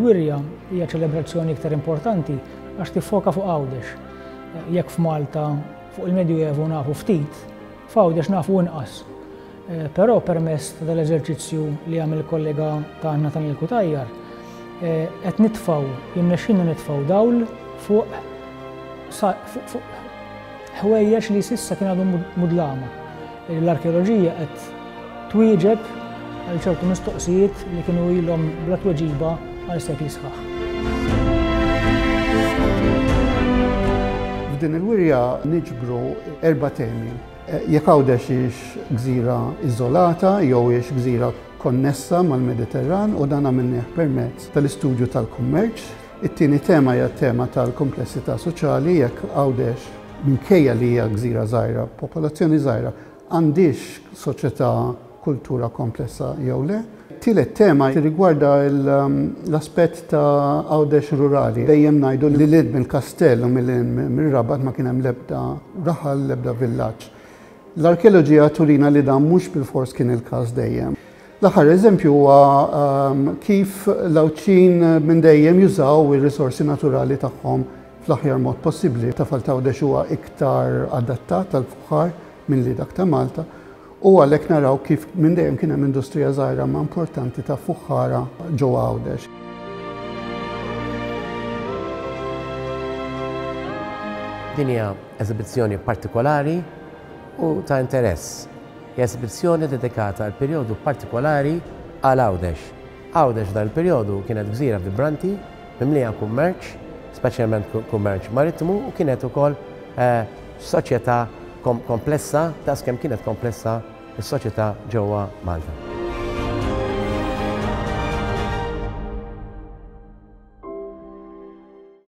il-wirja hija ċelebrazzjoni iktar importanti għax tiffoka fuq Għawdex. Jekk f'Malta fuq il-Medjuevu nafu ftit, f'Għawdex nafu inqas. Però permezz ta' dal-eżerċizzju li għamel il-kollega tagħna Nathaniel Cutajar, qed nitfgħu, jirnexxielna nitfgħu dawl fuq fuq ħwejjeġ li s'issa kien għadhom mudlama. L-arkeoloġija qed twieġeb għal ċertu mistoqsijiet li kienu ilhom bla tweġiba għal sekli sħaħ. F'din il-wirja niġbru erba' temi. Jekk Għawdex hix gżira iżolata jew hix gżira konnessa mal-Mediterran u dan għamilnieh permezz tal-istudju tal-kummerċ. It-tieni tema hija t-tema tal-komplessità soċjali jekk Għawdex minkejja li hija gżira żgħira, popolazzjoni żgħira, għandhiex soċjetà kultura komplessa jew le. Tielet tema tirrigwarda l-aspett ta' Għawdex rurali. Dejjem ngħidu li lil hinn mill-kastell u lil hinn mir-Rabat ma kien hemm l-ebda raħal, l-ebda villaġġ. L-arkeoloġija turina li dan mhux bilfors kien il-każ dejjem. L-aħħar eżempju huwa kif l-Għawdxin minn dejjem jużaw ir-risorsi naturali tagħhom fl-aħjar mod possibbli. Tafal t'Għawdex huwa iktar adattat għall-fuħħar milli dak ta' Malta u għalhekk naraw kif minn dejjem kien hemm industrija żgħira ma importanti ta' fuħħara ġewwa Għawdex. Din hija eżibizzjoni partikolari u ta' interess. Hija eżibizzjoni dedikata għal perjodu partikolari għal Għawdex. Għawdex f'dan il-perjodu kienet gżira vibranti, mimlija kummerċ, speċjalment kummerċ marittimu u kienet ukoll soċjetà komplessa daqs kemm kienet komplessa s-soċjetà ġewwa Malta.